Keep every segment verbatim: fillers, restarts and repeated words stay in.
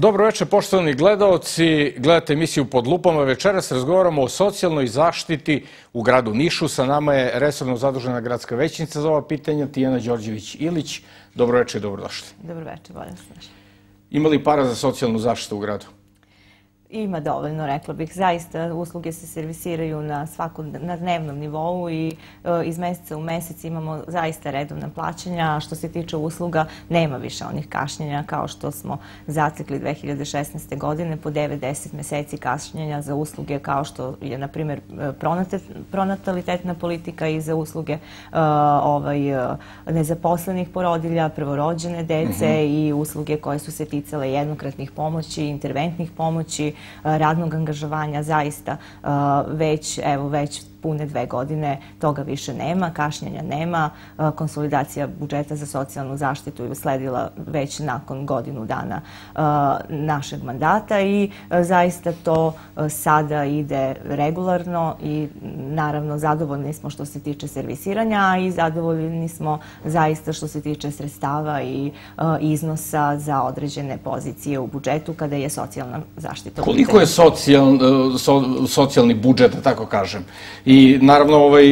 Dobro večer, poštovani gledaoci. Gledate emisiju Pod lupama. Večeras razgovaramo o socijalnoj zaštiti u gradu Nišu. Sa nama je resorno zadužena gradska većnica za ova pitanja, Tijana Đorđević-Ilić. Dobro večer i dobrodošli. Dobro večer, bolje vas našli. Ima li para za socijalnu zaštitu u gradu? Ima dovoljno, rekla bih. Zaista, usluge se servisiraju na svakom, na dnevnom nivou i e, iz meseca u mesec imamo zaista redovna plaćanja. A što se tiče usluga, nema više onih kašnjenja kao što smo zatekli dve hiljade šesnaeste. godine po devet do deset meseci kašnjenja za usluge kao što je, na primjer, pronatalitetna politika i za usluge e, ovaj, nezaposlenih porodilja, prvorođene dece uh-huh. i usluge koje su se ticale jednokratnih pomoći, interventnih pomoći, radnog angažovanja. Zaista već, evo, već pune dve godine toga više nema, kašnjenja nema. Konsolidacija budžeta za socijalnu zaštitu je usledila već nakon godinu dana našeg mandata i zaista to sada ide regularno i naravno zadovoljni smo što se tiče servisiranja i zadovoljni smo zaista što se tiče sredstava i iznosa za određene pozicije u budžetu kada je socijalna zaštita. Koliko je socijal, so, socijalni budžet, da tako kažem? I naravno, ovaj,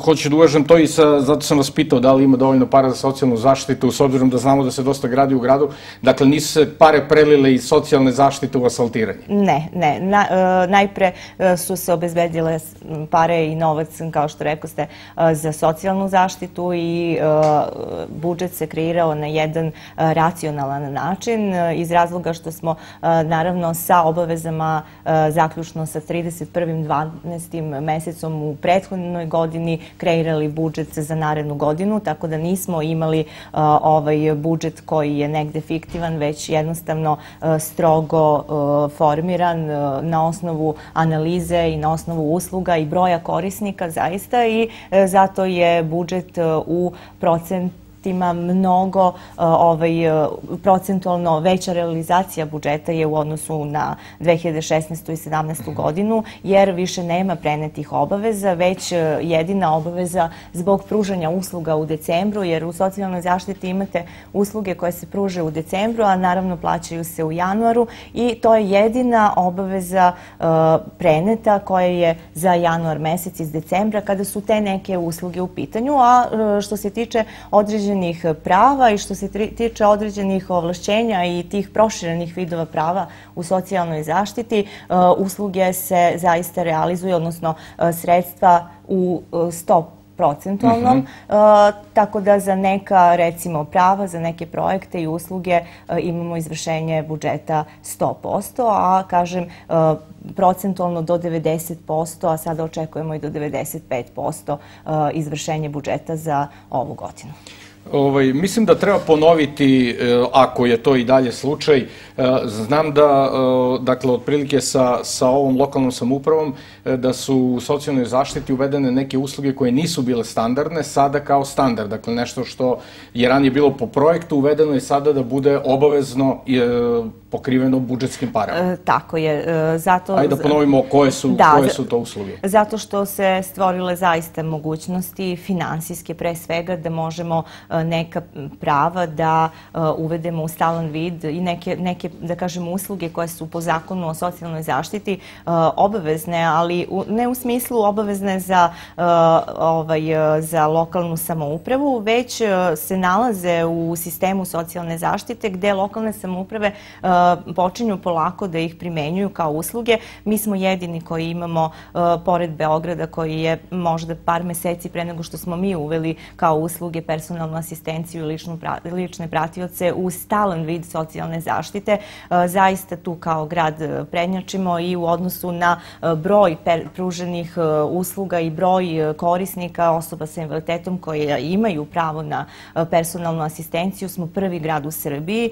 hoću da uvažem to i sa, zato sam vas pitao da li ima dovoljno para za socijalnu zaštitu, s obzirom da znamo da se dosta gradi u gradu. Dakle, nisu se pare prelile iz socijalne zaštite u asfaltiranje? Ne, ne. Na, e, najpre e, su se obezbedile pare i novac, kao što rekao ste, e, za socijalnu zaštitu i e, budžet se kreirao na jedan e, racionalan način e, iz razloga što smo e, naravno sa obavezama e, zaključno sa trideset prvim dvanaestim mesecom u prethodnoj godini kreirali budžet za narednu godinu, tako da nismo imali uh, ovaj budžet koji je negde fiktivan, već jednostavno uh, strogo uh, formiran uh, na osnovu analize i na osnovu usluga i broja korisnika zaista i uh, zato je budžet uh, u procent ima mnogo ovaj, procentualno veća realizacija budžeta je u odnosu na dve hiljade šesnaestu. i sedamnaestu. godinu, jer više nema prenetih obaveza, već jedina obaveza zbog pružanja usluga u decembru, jer u socijalnoj zaštiti imate usluge koje se pruže u decembru, a naravno plaćaju se u januaru i to je jedina obaveza uh, preneta koja je za januar mesec iz decembra kada su te neke usluge u pitanju, a uh, što se tiče određenih prava i što se tiče određenih ovlašćenja i tih proširenih vidova prava u socijalnoj zaštiti, usluge se zaista realizuju, odnosno sredstva u sto procentualnom, uh-huh. tako da za neka, recimo, prava, za neke projekte i usluge imamo izvršenje budžeta sto posto, a kažem procentualno do devedeset posto, a sada očekujemo i do devedeset pet posto izvršenje budžeta za ovu godinu. Ovaj, mislim da treba ponoviti, ako je to i dalje slučaj, znam da, dakle, otprilike sa, sa ovom lokalnom samoupravom, da su u socijalnoj zaštiti uvedene neke usluge koje nisu bile standardne, sada kao standard. Dakle, nešto što je ranije bilo po projektu, uvedeno je sada da bude obavezno pokriveno budžetskim parama. E, tako je. E, zato... Ajde da ponovimo koje su, da, koje su to usluge. Zato što se stvorile zaista mogućnosti, finansijske pre svega, da možemo neka prava da uvedemo u stalan vid i neke, neke da kažemo, usluge koje su po zakonu o socijalnoj zaštiti obavezne, ali ne u smislu obavezne za, ovaj, za lokalnu samoupravu, već se nalaze u sistemu socijalne zaštite gde lokalne samouprave počinju polako da ih primenjuju kao usluge. Mi smo jedini koji imamo, pored Beograda, koji je možda par meseci pre nego što smo mi uveli kao usluge personalnu asistenciju i ličnu, lične pratioce u stalan vid socijalne zaštite. Zaista tu kao grad prednjačimo i u odnosu na broj pruženih usluga i broj korisnika osoba sa invaliditetom koje imaju pravo na personalnu asistenciju smo prvi grad u Srbiji.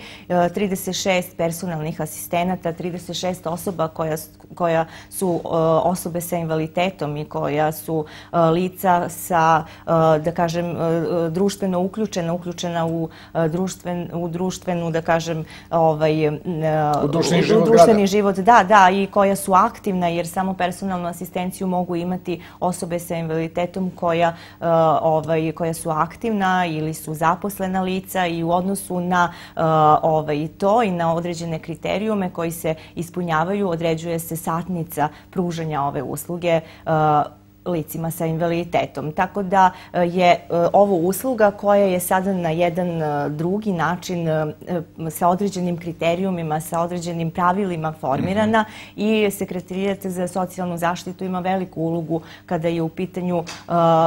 trideset šest personalnih asistenata, trideset šest osoba koja, koja su osobe sa invaliditetom i koja su lica sa, da kažem, društveno uključenim uključena, uključena u, društven, u društvenu, da kažem, ovaj, u društveni život, društveni život, da, da, i koja su aktivna, jer samo personalnu asistenciju mogu imati osobe sa invaliditetom koja, ovaj, koja su aktivna ili su zaposlena lica i u odnosu na ovaj, to i na određene kriterijume koji se ispunjavaju, određuje se satnica pružanja ove usluge licima sa invaliditetom. Tako da je ovo usluga koja je sada na jedan drugi način sa određenim kriterijumima, sa određenim pravilima formirana i Sekretarijat za socijalnu zaštitu ima veliku ulogu kada je u pitanju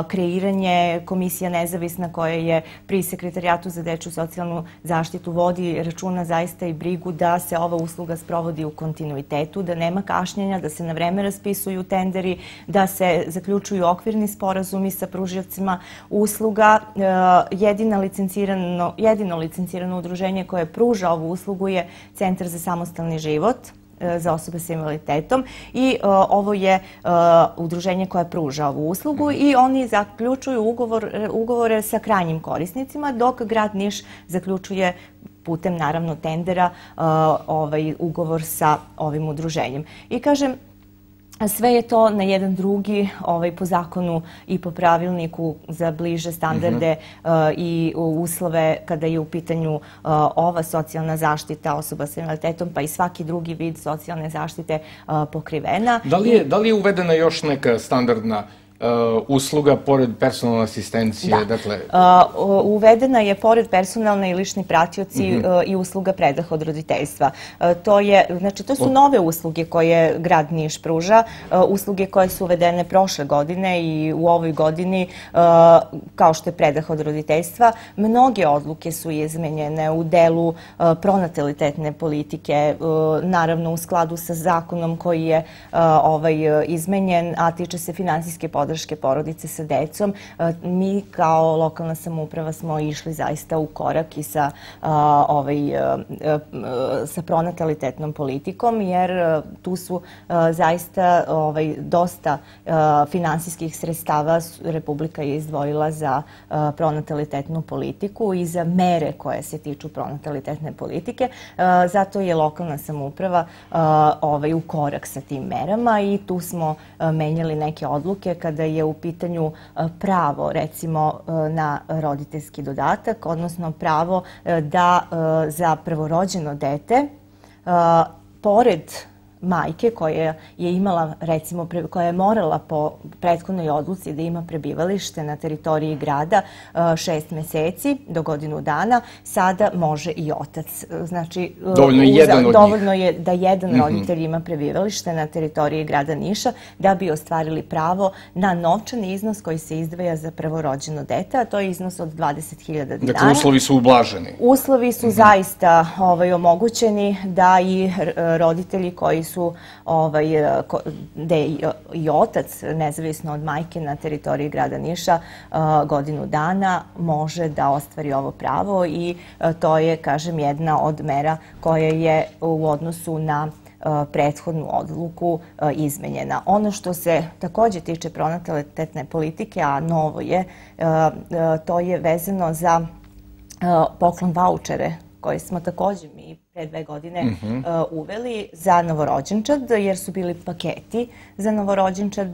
kreiranje, komisija nezavisna koja je pri Sekretarijatu za dečju socijalnu zaštitu vodi računa zaista i brigu da se ova usluga sprovodi u kontinuitetu, da nema kašnjenja, da se na vreme raspisuju tenderi, da se zaključuju okvirni sporazumi sa pružiocima usluga. Jedino licencirano, jedino licencirano udruženje koje pruža ovu uslugu je Centar za samostalni život za osobe sa invaliditetom i ovo je udruženje koje pruža ovu uslugu i oni zaključuju ugovor, ugovore sa krajnjim korisnicima, dok grad Niš zaključuje putem naravno tendera ovaj ugovor sa ovim udruženjem. I kažem, sve je to na jedan drugi, ovaj, po zakonu i po pravilniku za bliže standarde uh, i uslove kada je u pitanju uh, ova socijalna zaštita osoba sa invaliditetom, pa i svaki drugi vid socijalne zaštite uh, pokrivena. Da li je, da li je uvedena još neka standardna Uh, usluga pored personalne asistencije? Da. Dakle... Uh, uvedena je pored personalne i lični pratioci uh -huh. uh, i usluga predah od roditeljstva. Uh, to je, znači, to su od... nove usluge koje grad Niš pruža, uh, usluge koje su uvedene prošle godine i u ovoj godini, uh, kao što je predah od roditeljstva. Mnoge odluke su izmenjene u delu uh, pronatalitetne politike, uh, naravno u skladu sa zakonom koji je uh, ovaj, uh, izmenjen, a tiče se finansijske podrške porodice sa decom. Mi kao lokalna samouprava smo išli zaista u korak i sa, ovaj, sa pronatalitetnom politikom, jer tu su zaista ovaj, dosta finansijskih sredstava Republika je izdvojila za pronatalitetnu politiku i za mere koje se tiču pronatalitetne politike. Zato je lokalna samouprava ovaj, u korak sa tim merama i tu smo menjali neke odluke kada je u pitanju pravo, recimo, na roditeljski dodatak, odnosno pravo da za prvorođeno dete, pored majke koja je imala, recimo, koja je morala po prethodnoj odluci da ima prebivalište na teritoriji grada šest meseci do godinu dana, sada može i otac. Znači, dovoljno je jedan od njih. Dovoljno je da jedan roditelj ima prebivalište na teritoriji grada Niša da bi ostvarili pravo na novčani iznos koji se izdvaja za prvorođeno dete, a to je iznos od dvadeset hiljada dinara. Dakle, uslovi su ublaženi. Uslovi su zaista ovaj, omogućeni da i roditelji koji su su ovaj, gde i otac, nezavisno od majke na teritoriji grada Niša, godinu dana može da ostvari ovo pravo i to je, kažem, jedna od mera koja je u odnosu na prethodnu odluku izmenjena. Ono što se takođe tiče pronatalitetne politike, a novo je, to je vezano za poklon vaučere koje smo takođe mi pre dve godine uh, uveli za novorođenčad, jer su bili paketi za novorođenčad.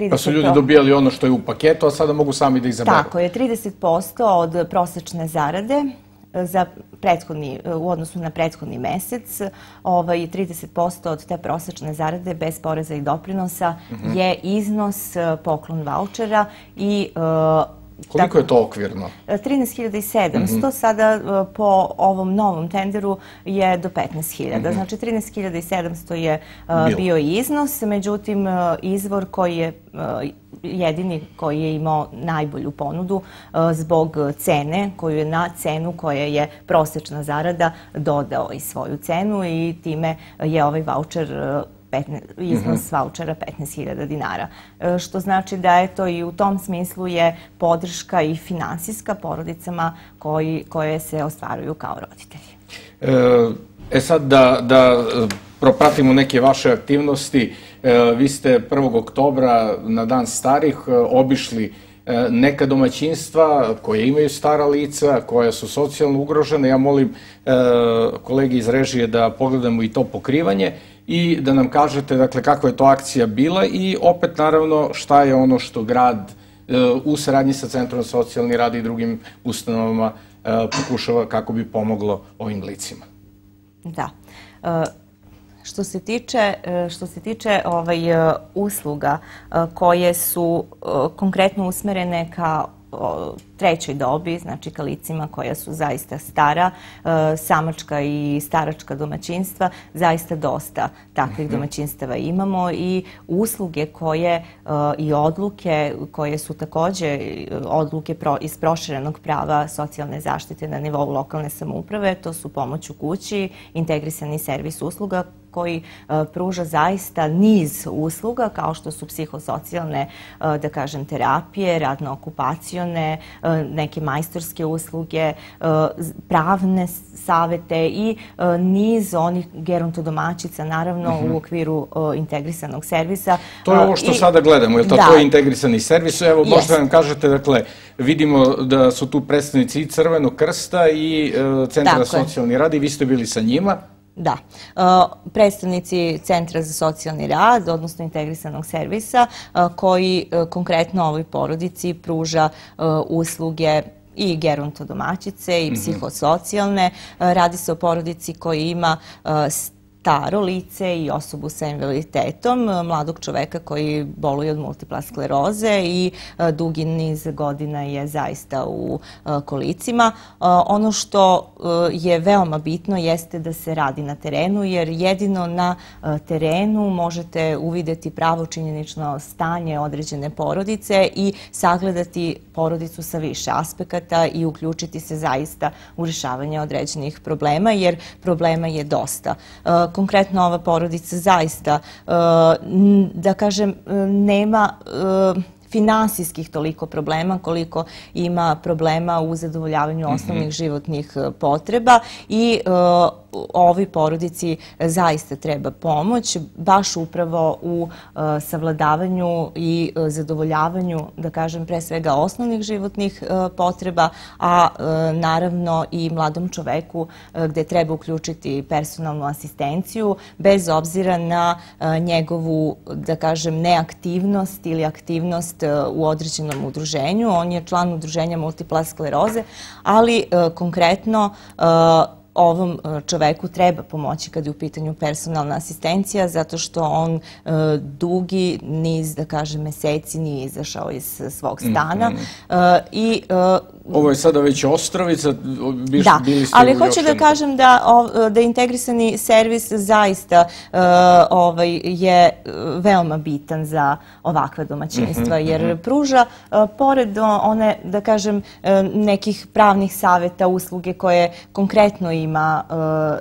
Pa su ljudi dobijali ono što je u paketu, a sada mogu sami da izaberu. Tako je, trideset posto od prosečne zarade za prethodni, u odnosu na prethodni mesec, ovaj, trideset posto od te prosečne zarade bez poreza i doprinosa uh-huh. je iznos poklon vaučera i uh, koliko je to okvirno? trinaest hiljada sedamsto, sada po ovom novom tenderu je do petnaest hiljada. Znači trinaest hiljada sedamsto je bio iznos, međutim izvor koji je jedini koji je imao najbolju ponudu zbog cene, koju je na cenu koja je prosečna zarada dodao i svoju cenu i time je ovaj vaučer iznos vaučera petnaest hiljada dinara. Što znači da je to i u tom smislu je podrška i finansijska porodicama koji, koje se ostvaruju kao roditelji. E sad da, da propratimo neke vaše aktivnosti. Vi ste prvog oktobra na Dan starih obišli neka domaćinstva koje imaju stara lica, koja su socijalno ugrožene. Ja molim kolege iz režije da pogledamo i to pokrivanje i da nam kažete, dakle, kakva je to akcija bila i opet, naravno, šta je ono što grad u saradnji sa Centrom za socijalni rad i drugim ustanovama pokušava kako bi pomoglo ovim licima. Da. Što se tiče, što se tiče ovaj, usluga koje su konkretno usmerene ka trećoj dobi, znači ka licima koja su zaista stara, samačka i staračka domaćinstva, zaista dosta takvih domaćinstava imamo i usluge koje i odluke koje su takođe odluke iz proširenog prava socijalne zaštite na nivou lokalne samouprave, to su pomoć u kući, integrisani servis usluga koji pruža zaista niz usluga kao što su psihosocijalne, da kažem, terapije, radno-okupacione, neke majstorske usluge, pravne savete i niz onih gerontodomaćica, naravno, u okviru integrisanog servisa. To je ovo što sada gledamo, je li to to integrisani servis? Evo, možda nam kažete, dakle, vidimo da su tu predstavnici i Crvenog krsta i Centra za socijalni rad i vi ste bili sa njima. Da. Predstavnici Centra za socijalni rad, odnosno integrisanog servisa, koji konkretno ovoj porodici pruža usluge i gerontodomaćice i psihosocijalne. Radi se o porodici koji ima staro lice i osobu sa invaliditetom, mladog čoveka koji boluje od multiple skleroze i dugi niz godina je zaista u kolicima. Ono što je veoma bitno jeste da se radi na terenu, jer jedino na terenu možete uvideti pravo činjenično stanje određene porodice i sagledati porodicu sa više aspekata i uključiti se zaista u rješavanje određenih problema, jer problema je dosta. Konkretno ova porodica zaista, da kažem, nema finansijskih toliko problema koliko ima problema u zadovoljavanju osnovnih životnih potreba i ovoj porodici zaista treba pomoć, baš upravo u savladavanju i zadovoljavanju, da kažem, pre svega osnovnih životnih potreba, a naravno i mladom čoveku gde treba uključiti personalnu asistenciju bez obzira na njegovu, da kažem, neaktivnost ili aktivnost u određenom udruženju. On je član udruženja multiple skleroze, ali konkretno ovom čoveku treba pomoći kad je u pitanju personalna asistencija, zato što on dugi niz, da kažem, meseci nije izašao iz svog stana. Ovo je sada već Ostrovica, bili ste u još... Da, ali hoću da kažem da integrisani servis zaista je veoma bitan za ovakva domaćinstva, jer pruža, pored one, da kažem, nekih pravnih saveta, usluge koje konkretno ima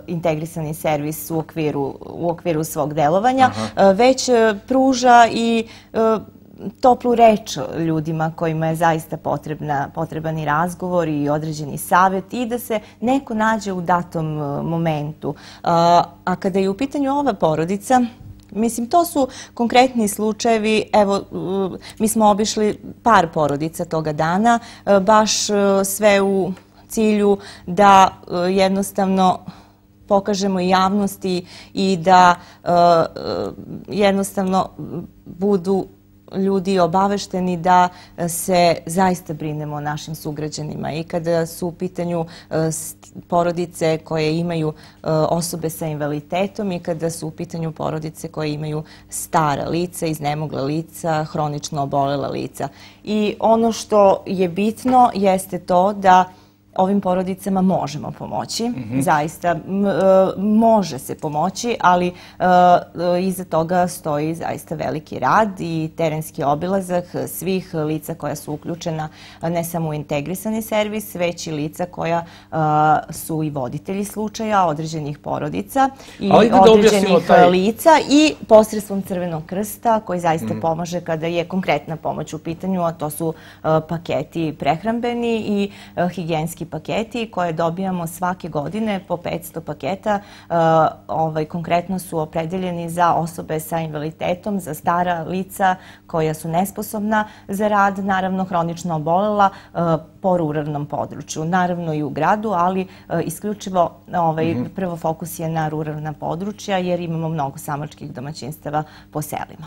integrisani servis u okviru svog delovanja, već pruža i toplu reč ljudima kojima je zaista potreban i razgovor i određeni savjet i da se neko nađe u datom momentu. A kada je u pitanju ova porodica, mislim, to su konkretni slučajevi. Evo, mi smo obišli par porodica toga dana, baš sve u cilju da jednostavno pokažemo i javnosti i da jednostavno budu ljudi obavešteni da se zaista brinemo o našim sugrađanima i kada su u pitanju porodice koje imaju osobe sa invaliditetom i kada su u pitanju porodice koje imaju stara lica, iznemogla lica, hronično obolela lica. I ono što je bitno jeste to da ovim porodicama možemo pomoći, zaista može se pomoći, ali iza toga stoji zaista veliki rad i terenski obilazak svih lica koja su uključena ne samo u integrisani servis, već i lica koja su i voditelji slučaja određenih porodica i određenih lica i posredstvom Crvenog krsta koji zaista pomaže kada je konkretna pomoć u pitanju, a to su paketi prehrambeni i higijenski samčarski paketi koje dobijamo svake godine po petsto paketa. Ovaj, konkretno su opredeljeni za osobe sa invaliditetom, za stara lica koja su nesposobna za rad, naravno hronično obolela po ruralnom području. Naravno i u gradu, ali isključivo ovaj, prvo fokus je na ruralna područja jer imamo mnogo samačkih domaćinstava po selima.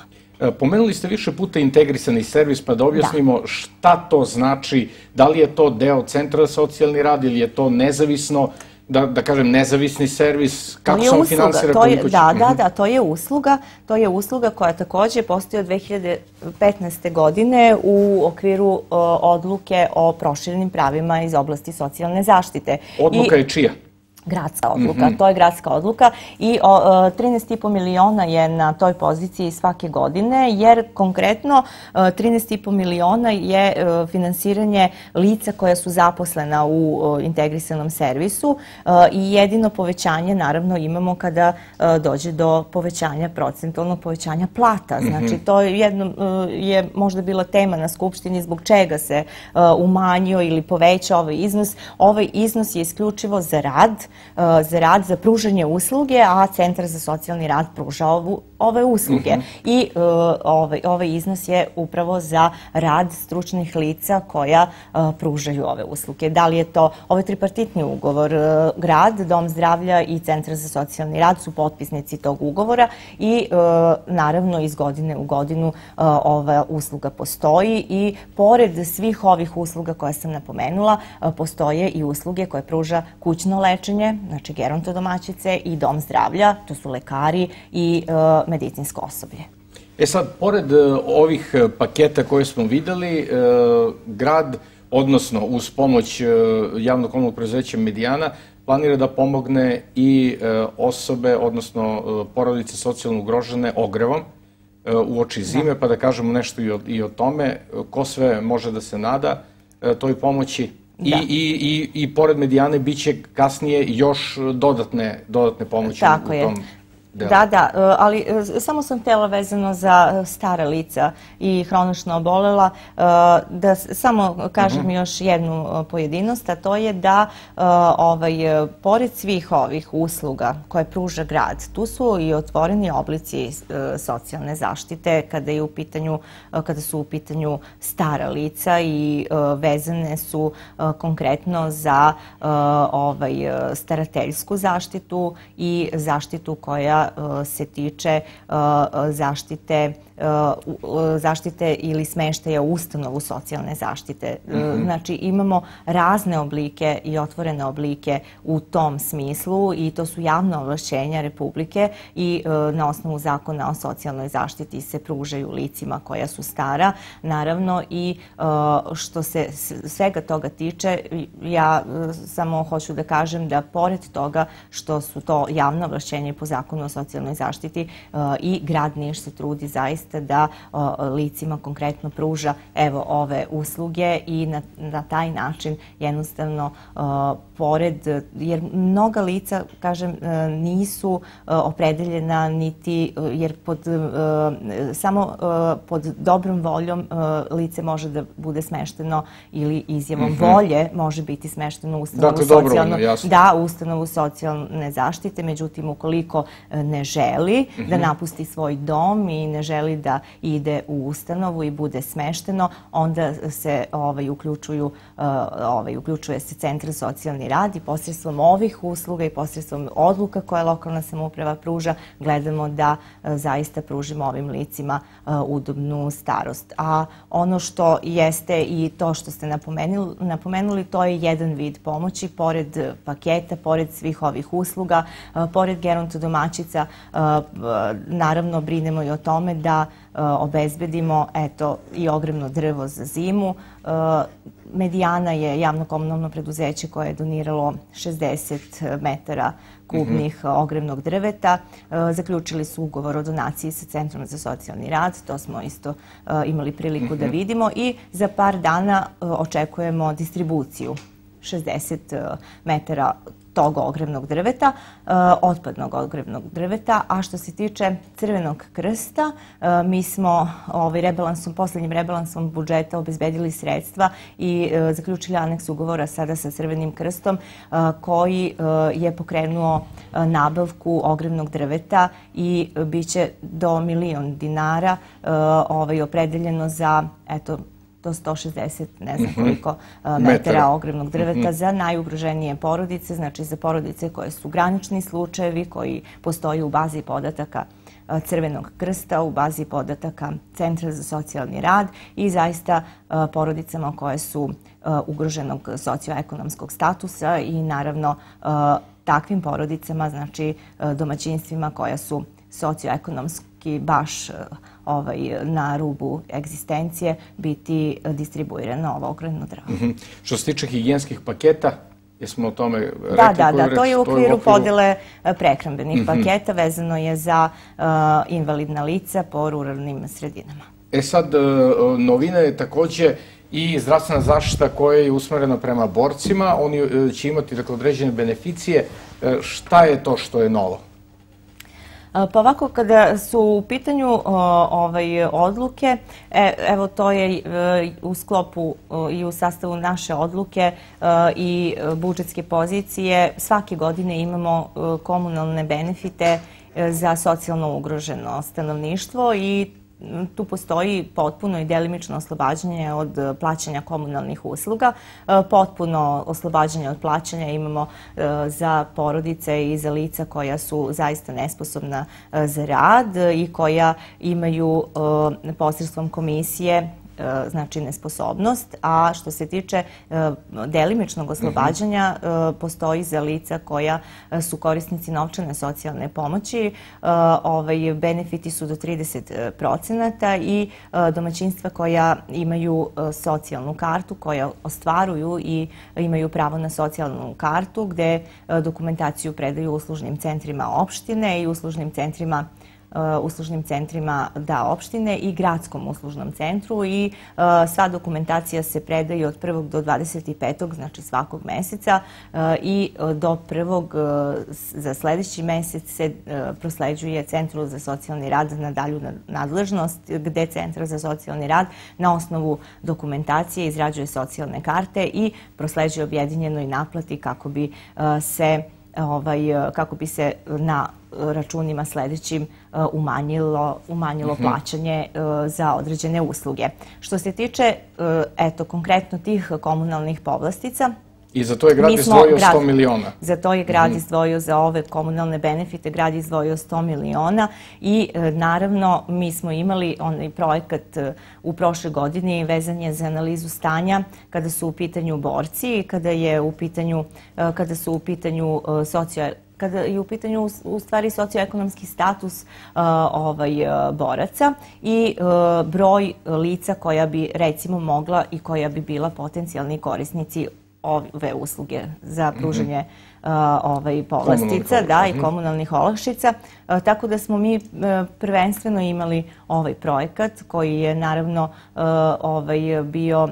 Pomenuli ste više puta integrisani servis, pa da objasnimo šta to znači, da li je to deo Centra za socijalni rad ili je to nezavisno, da, da kažem, nezavisni servis, kako se on finansira? Da, da, da, to je usluga, to je usluga koja takođe postoji od dve hiljade petnaeste. godine u okviru odluke o proširenim pravima iz oblasti socijalne zaštite. Odluka je čija? Gradska odluka, to je gradska odluka i trinaest i po miliona je na toj poziciji svake godine, jer konkretno trinaest i po miliona je finansiranje lica koja su zaposlena u integrisanom servisu i jedino povećanje naravno imamo kada dođe do povećanja, procentualnog povećanja plata. Znači to jedno je možda bila tema na Skupštini zbog čega se umanjio ili poveća ovaj iznos. Ovaj iznos je isključivo za rad, za rad, za pružanje usluge, a Centar za socijalni rad pruža ove usluge. I ovaj iznos je upravo za rad stručnih lica koja pružaju ove usluge. Da li je to, ovaj tripartitni ugovor, grad, Dom zdravlja i Centar za socijalni rad su potpisnici tog ugovora i naravno iz godine u godinu ova usluga postoji i pored svih ovih usluga koje sam napomenula, postoje i usluge koje pruža kućno lečenje, znači gerontodomaćice i dom zdravlja, to su lekari i medicinsko osoblje. E sad, pored ovih paketa koje smo videli, grad, odnosno uz pomoć javnog komunalnog preduzeća Medijana, planira da pomogne i osobe, odnosno porodice socijalno ugrožene ogrevom uoči zime, pa da kažemo nešto i o tome, ko sve može da se nada toj pomoći. I pored Medijane bit će kasnije još dodatne pomoći u tom delu. Da, da, ali samo sam htjela vezano za stara lica i hronično obolela da samo kažem još jednu pojedinost, a to je da pored svih ovih usluga koje pruža grad, tu su i otvoreni oblici socijalne zaštite kada je u pitanju, kada su u pitanju stara lica i vezane su konkretno za starateljsku zaštitu i zaštitu koja se tiče zaštite zaštite ili smeštaja u ustanovu socijalne zaštite. Znači imamo razne oblike i otvorene oblike u tom smislu i to su javna ovlašćenja Republike i na osnovu zakona o socijalnoj zaštiti se pružaju licima koja su stara. Naravno i što se svega toga tiče, ja samo hoću da kažem da pored toga što su to javna ovlašćenja po zakonu o socijalnoj zaštiti i grad Niš se trudi zaista da licima konkretno pruža evo ove usluge i na taj način jednostavno pored, jer mnoga lica, kažem, nisu opredeljena niti, jer samo pod dobrom voljom lice može da bude smešteno ili izjavom volje može biti smešteno u ustanovu socijalne zaštite, međutim ukoliko ne želi da napusti svoj dom i ne želi da ide u ustanovu i bude smešteno, onda se uključuje se Centar za socijalni rad i posredstvom ovih usluga i posredstvom odluka koje lokalna samouprava pruža, gledamo da zaista pružimo ovim licima udobnu starost. A ono što jeste i to što ste napomenuli, to je jedan vid pomoći, pored paketa, pored svih ovih usluga, pored gerontodomaćica, naravno brinemo i o tome da obezbedimo i ogrevno drvo za zimu. Medijana je javno komunalno preduzeće koje je doniralo šezdeset metara kubnih ogrevnog drveta. Zaključili su ugovor o donaciji sa Centrom za socijalni rad, to smo isto imali priliku da vidimo i za par dana očekujemo distribuciju šezdeset metara tog ogrevnog drveta, otpadnog ogrevnog drveta, a što se tiče Crvenog krsta, mi smo ovaj rebalansom, poslednjim rebalansom budžeta obezbedili sredstva i zaključili aneks ugovora sada sa Crvenim krstom koji je pokrenuo nabavku ogrevnog drveta i biće do milion dinara ovaj, opredeljeno za, eto, do sto šezdeset, ne znam koliko metara ogrevnog drveta za najugroženije porodice, znači za porodice koje su granični slučajevi, koji postoji u bazi podataka Crvenog krsta, u bazi podataka Centra za socijalni rad i zaista porodicama koje su ugroženog socioekonomskog statusa i naravno takvim porodicama, znači domaćinstvima koja su socioekonomski baš ovaj, na rubu egzistencije, biti distribuirano ovo ogrevno drvo. Mm-hmm. Što se tiče higijenskih paketa, jesmo o tome rekli? Da, da, da, to je u okviru podele prehrambenih mm-hmm. paketa, vezano je za uh, invalidna lica po ruralnim sredinama. E sad, novina je takođe i zdravstvena zaštita koja je usmerena prema borcima. Oni će imati, dakle, određene beneficije. Šta je to što je novo? Pa ovako, kada su u pitanju ovaj, odluke, evo to je u sklopu i u sastavu naše odluke i budžetske pozicije, svake godine imamo komunalne benefite za socijalno ugroženo stanovništvo i tu postoji potpuno i delimično oslobađanje od plaćanja komunalnih usluga. Potpuno oslobađanje od plaćanja imamo za porodice i za lica koja su zaista nesposobna za rad i koja imaju posredstvom komisije znači nesposobnost, a što se tiče delimičnog oslobađanja postoji za lica koja su korisnici novčane socijalne pomoći. Ovaj, benefiti su do trideset procenata i domaćinstva koja imaju socijalnu kartu, koja ostvaruju i imaju pravo na socijalnu kartu, gde dokumentaciju predaju uslužnim centrima opštine i uslužnim centrima uslužnim centrima da opštine i gradskom uslužnom centru i uh, sva dokumentacija se predaje od prvog do dvadeset petog, znači svakog meseca uh, i do prvog uh, za sledeći mesec se uh, prosleđuje Centru za socijalni rad na dalju nadležnost, gde Centar za socijalni rad na osnovu dokumentacije izrađuje socijalne karte i prosleđuje objedinjenoj naplati kako bi uh, se Ovaj, kako bi se na računima sledećim umanjilo, umanjilo mm-hmm. plaćanje za određene usluge. Što se tiče, eto, konkretno tih komunalnih povlastica, i za to je grad izdvojio sto miliona. Za to je grad izdvojio, za ove komunalne benefite, grad izdvojio sto miliona i naravno mi smo imali onaj projekat u prošle godini vezan je za analizu stanja kada su u pitanju borci, kada je u pitanju, kada su u pitanju socio kada je u pitanju u stvari socioekonomski status uh, ovaj, boraca i uh, broj lica koja bi recimo mogla i koja bi bila potencijalni korisnici ove usluge za pružanje uh, ovaj, povlastica da, i komunalnih olakšica. Uh, tako da smo mi uh, prvenstveno imali ovaj projekat koji je naravno uh, ovaj, bio uh,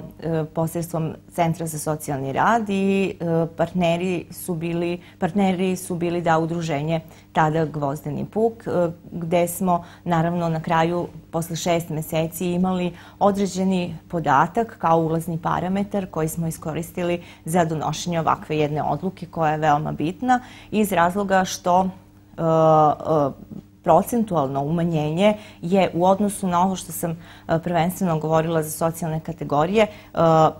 posredstvom Centra za socijalni rad i uh, partneri su bili, partneri su bili da udruženje tada Gvozdeni puk, uh, gde smo naravno na kraju posle šest meseci imali određeni podatak kao ulazni parametar koji smo iskoristili za donošenje ovakve jedne odluke koja je veoma bitna iz razloga što uh, uh, procentualno umanjenje je u odnosu na ovo što sam prvenstveno govorila za socijalne kategorije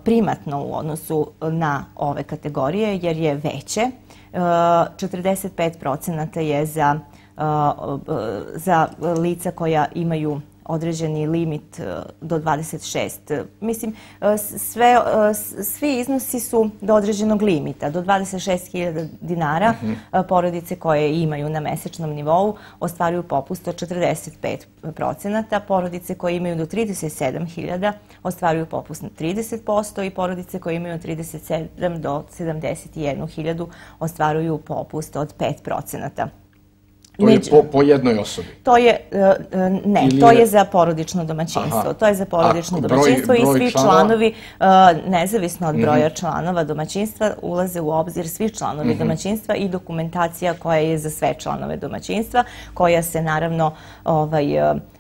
primatno u odnosu na ove kategorije jer je veće. četrdeset pet procenata je za, za lica koja imaju određeni limit do dvadeset šest. Mislim, sve, svi iznosi su do određenog limita. Do dvadeset šest hiljada dinara uh-huh. porodice koje imaju na mesečnom nivou ostvaruju popust od četrdeset pet procenata. Porodice koje imaju do trideset sedam hiljada ostvaruju popust na trideset posto i porodice koje imaju od trideset sedam do sedamdeset jednu hiljadu ostvaruju popust od pet procenata. To je po, po jednoj osobi? To je, ne, Ili to je... je za porodično domaćinstvo. Aha. To je za porodično A, domaćinstvo broj, broj i svi članova? članovi, nezavisno od broja mm-hmm. članova domaćinstva, ulaze u obzir svi članovi mm-hmm. domaćinstva i dokumentacija koja je za sve članove domaćinstva, koja se naravno ovaj,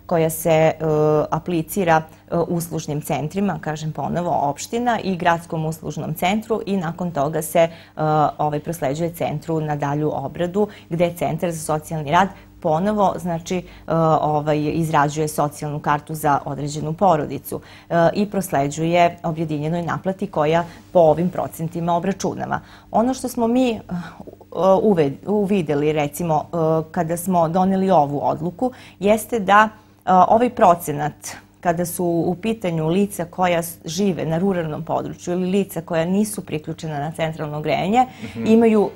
koja se uh, aplicira uh, uslužnim centrima, kažem ponovo, opština i gradskom uslužnom centru i nakon toga se uh, ovaj, prosleđuje centru na dalju obradu gde Centar za socijalni rad ponovo, znači, uh, ovaj, izrađuje socijalnu kartu za određenu porodicu uh, i prosleđuje objedinjenoj naplati koja po ovim procentima obračunava. Ono što smo mi uh, uvideli, recimo, uh, kada smo doneli ovu odluku, jeste da ovaj procenat, kada su u pitanju lica koja žive na ruralnom području ili lica koja nisu priključena na centralno grejanje, mm-hmm. imaju uh,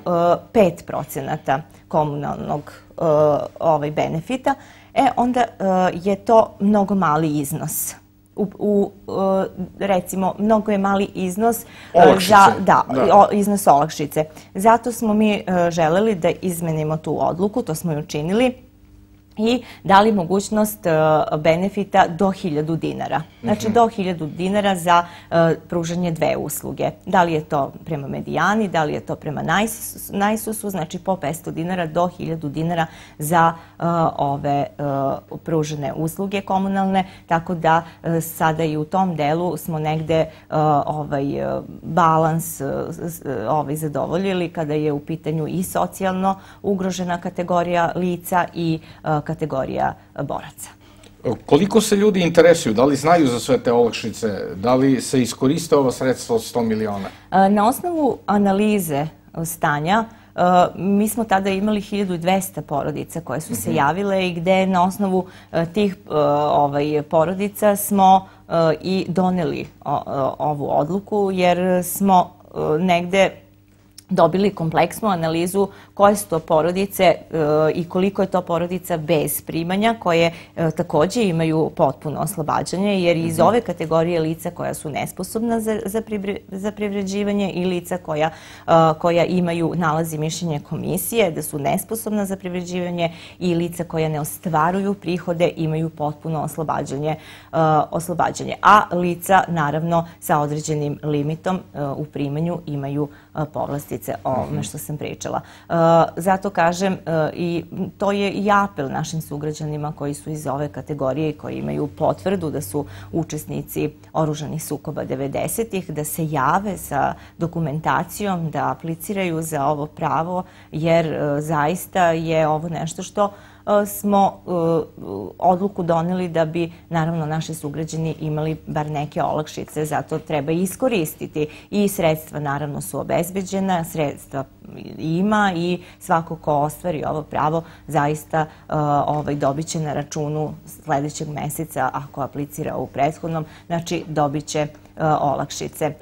pet procenata komunalnog uh, ovaj benefita, e, onda uh, je to mnogo mali iznos. U, u, recimo, mnogo je mali iznos za da, da. iznos olakšice. Zato smo mi uh, želeli da izmenimo tu odluku, to smo i učinili, i dali mogućnost uh, benefita do hiljadu dinara. Znači, mm-hmm. do hiljadu dinara za uh, pružanje dve usluge. Da li je to prema medijani, da li je to prema najsusu, znači po petsto dinara do hiljadu dinara za uh, ove uh, pružene usluge komunalne, tako da uh, sada i u tom delu smo negde uh, ovaj, uh, balans uh, ovaj, zadovoljili kada je u pitanju i socijalno ugrožena kategorija lica i uh, kategorija boraca. Koliko se ljudi interesuju? Da li znaju za sve te olakšice? Da li se iskoriste ova sredstva od sto miliona? Na osnovu analize stanja, mi smo tada imali hiljadu dvesta porodica koje su se javile i gde na osnovu tih ovaj, porodica smo i doneli ovu odluku, jer smo negde dobili kompleksnu analizu koje su to porodice e, i koliko je to porodica bez primanja koje e, takođe imaju potpuno oslobađanje, jer iz ove kategorije lica koja su nesposobna za, za, privre, za privređivanje i lica koja, e, koja imaju nalazi mišljenje komisije da su nesposobna za privređivanje i lica koja ne ostvaruju prihode imaju potpuno oslobađanje, e, oslobađanje. A lica naravno sa određenim limitom e, u primanju imaju e, povlasti o ovome što sam pričala. Zato kažem, i to je i apel našim sugrađanima koji su iz ove kategorije i koji imaju potvrdu da su učesnici oružanih sukoba devedesetih, da se jave sa dokumentacijom, da apliciraju za ovo pravo, jer zaista je ovo nešto što smo odluku doneli da bi, naravno, naši sugrađani imali bar neke olakšice, zato treba iskoristiti i sredstva, naravno, su obezbeđena, sredstva ima i svako ko ostvari ovo pravo zaista ovaj, dobit će na računu sledećeg meseca, ako aplicira u prethodnom, znači dobit će olakšice.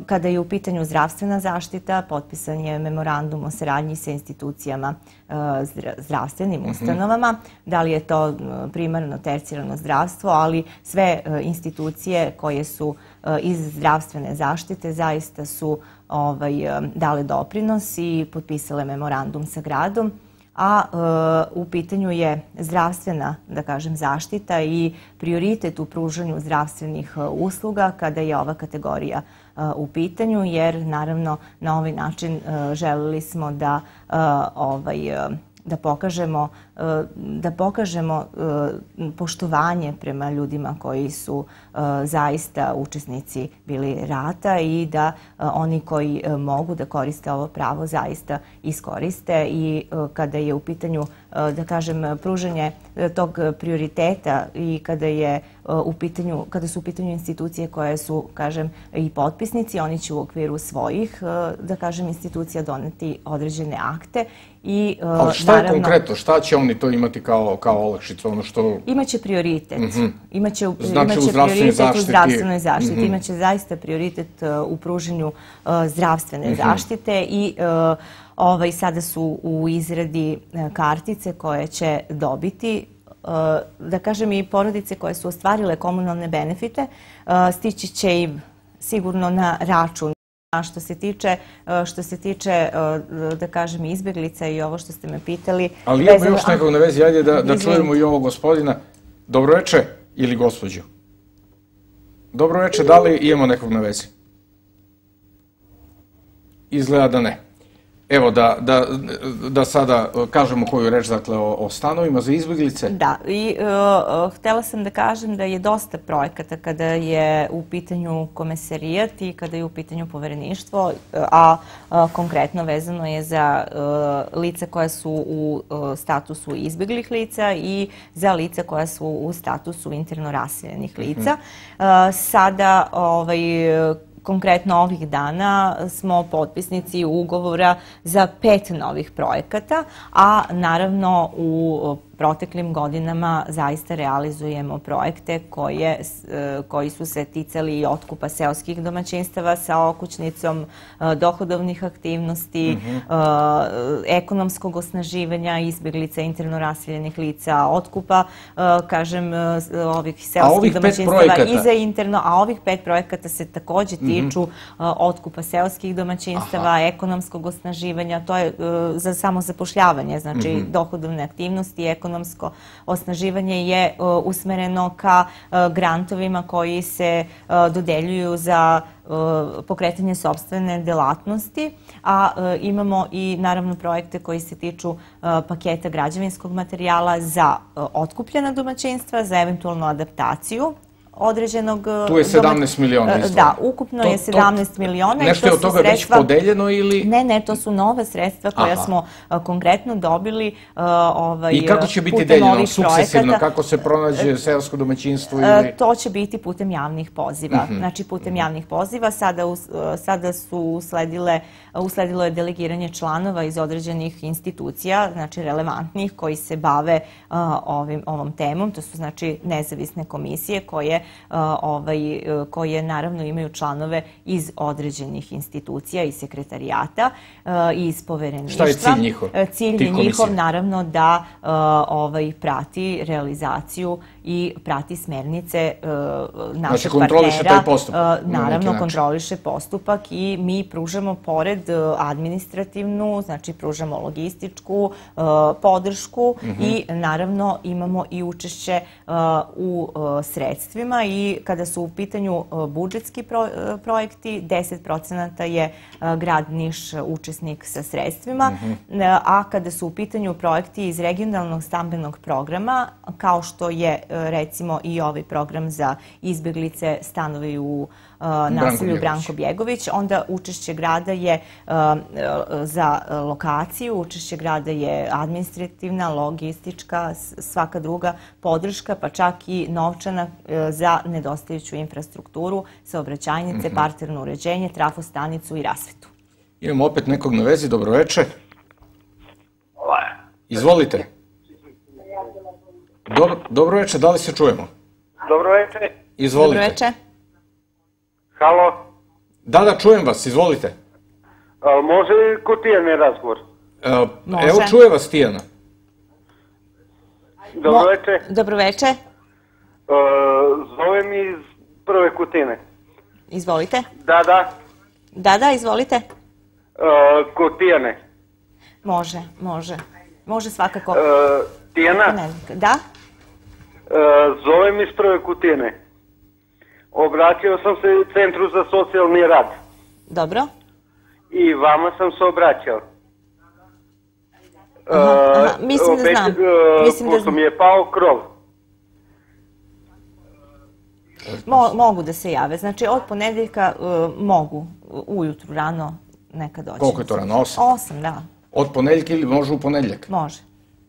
Kada je u pitanju zdravstvena zaštita, potpisan je memorandum o saradnji sa institucijama zdravstvenim ustanovama, da li je to primarno, tercijarno zdravstvo, ali sve institucije koje su iz zdravstvene zaštite zaista su ovaj, dale doprinos i potpisale memorandum sa gradom, a e, u pitanju je zdravstvena, da kažem, zaštita i prioritet u pružanju zdravstvenih usluga kada je ova kategorija e, u pitanju, jer naravno na ovaj način e, želeli smo da e, ovaj, e, da pokažemo, da pokažemo poštovanje prema ljudima koji su zaista učesnici bili rata i da oni koji mogu da koriste ovo pravo zaista iskoriste i kada je u pitanju, da kažem, pružanje tog prioriteta i kada je u pitanju, kada su u pitanju institucije koje su, kažem, i potpisnici, oni će u okviru svojih, da kažem, institucija doneti određene akte. I, ali šta je naravno, konkretno? Šta će oni to imati kao, kao olakšicu? Ono što... Imaće prioritet. Mm-hmm. Imaće, znači, imaće u prioritet zaštiti. u zdravstvenoj zaštiti. Mm-hmm. Imaće zaista prioritet uh, u pruženju uh, zdravstvene mm-hmm. zaštite i uh, ovaj, sada su u izradi uh, kartice koje će dobiti, uh, da kažem, i porodice koje su ostvarile komunalne benefite, uh, stići će im sigurno na račun A što se tiče, što se tiče, da kažem, izbjeglica i ovo što ste me pitali... Ali imamo još nekog na vezi, ajde da čujemo i ovog gospodina. Dobroveče ili gospođu? Dobroveče, da li imamo nekog na vezi? Izgleda da ne. Evo, da sada kažemo koju reč, dakle, o stanovima za izbjeglice. Da, i htjela sam da kažem da je dosta projekata kada je u pitanju komesarijat i kada je u pitanju povereništvo, a konkretno vezano je za lica koja su u statusu izbjeglih lica i za lica koja su u statusu interno raseljenih lica. Sada, ovaj, konkretno ovih dana smo potpisnici ugovora za pet novih projekata, a naravno u proteklim godinama zaista realizujemo projekte koji su se ticali i otkupa seoskih domaćinstava sa okućnicom, dohodovnih aktivnosti, ekonomskog osnaživanja izbjeglica, interno raseljenih lica, otkupa, kažem, ovih seoskih domaćinstava i za interno, a ovih pet projekata se također tiču otkupa seoskih domaćinstava, ekonomskog osnaživanja, to je za samozapošljavanje, znači dohodovne aktivnosti, ekonomsko osnaživanje je usmereno ka grantovima koji se dodeljuju za pokretanje sopstvene delatnosti, a imamo i naravno projekte koji se tiču paketa građevinskog materijala za otkupljena domaćinstva, za eventualnu adaptaciju određenog... Tu je sedamnaest miliona izdvojeno. Da, ukupno je sedamnaest miliona. Nešto je od toga već podeljeno ili... Ne, ne, to su nova sredstva koja smo konkretno dobili putem ovih projekata. I kako će biti deljeno sukcesivno? Kako se pronađe seosko domaćinstvo ili... To će biti putem javnih poziva. Znači, putem javnih poziva sada su usledile, usledilo je delegiranje članova iz određenih institucija, znači relevantnih, koji se bave ovom temom. To su, znači, nezavisne komisije koje koje naravno imaju članove iz određenih institucija i sekretarijata i iz povereništva. Šta je cilj njihov? Cilj je njihov naravno da prati realizaciju i prati smernice našeg partnera. Znači kontroliše taj postupak? Naravno kontroliše postupak i mi pružamo pored administrativnu, znači pružamo logističku podršku i naravno imamo i učešće u sredstvima i kada su u pitanju budžetski projekti, deset procenata je grad Niš učesnik sa sredstvima, a kada su u pitanju projekti iz regionalnog stambenog programa, kao što je recimo i ovaj program za izbjeglice stanovi u naselju Branko Bjegović, onda učešće grada je za lokaciju, učešće grada je administrativna, logistička, svaka druga podrška, pa čak i novčana za nedostajuću infrastrukturu, saobraćajnice, parterno uređenje, trafostanicu i rasvetu. Imamo opet nekog na vezi, dobroveče. Izvolite. Dobroveče, da li se čujemo? Dobroveče. Izvolite. Dobroveče. Halo? Da, da, čujem vas, izvolite. Može li kod Tijane razgovor? Evo, čuje vas Tijana. Dobroveče. Dobroveče. Zovem iz Prve Kutine. Izvolite. Da, da. Da, da, izvolite. Kod Tijane. Može, može. Može svakako. Tijana? Da. Zovem iz Prve Kutine. Obratio sam se Centru za socijalni rad. Dobro. I vama sam se obraćao. Mislim da znam. Pošto mi je pao krov. Mogu da se jave. Znači, od ponedeljka mogu ujutru rano neka doći. Koliko je to rano? Osam? Osam, da. Od ponedeljka ili može u ponedeljak? Može.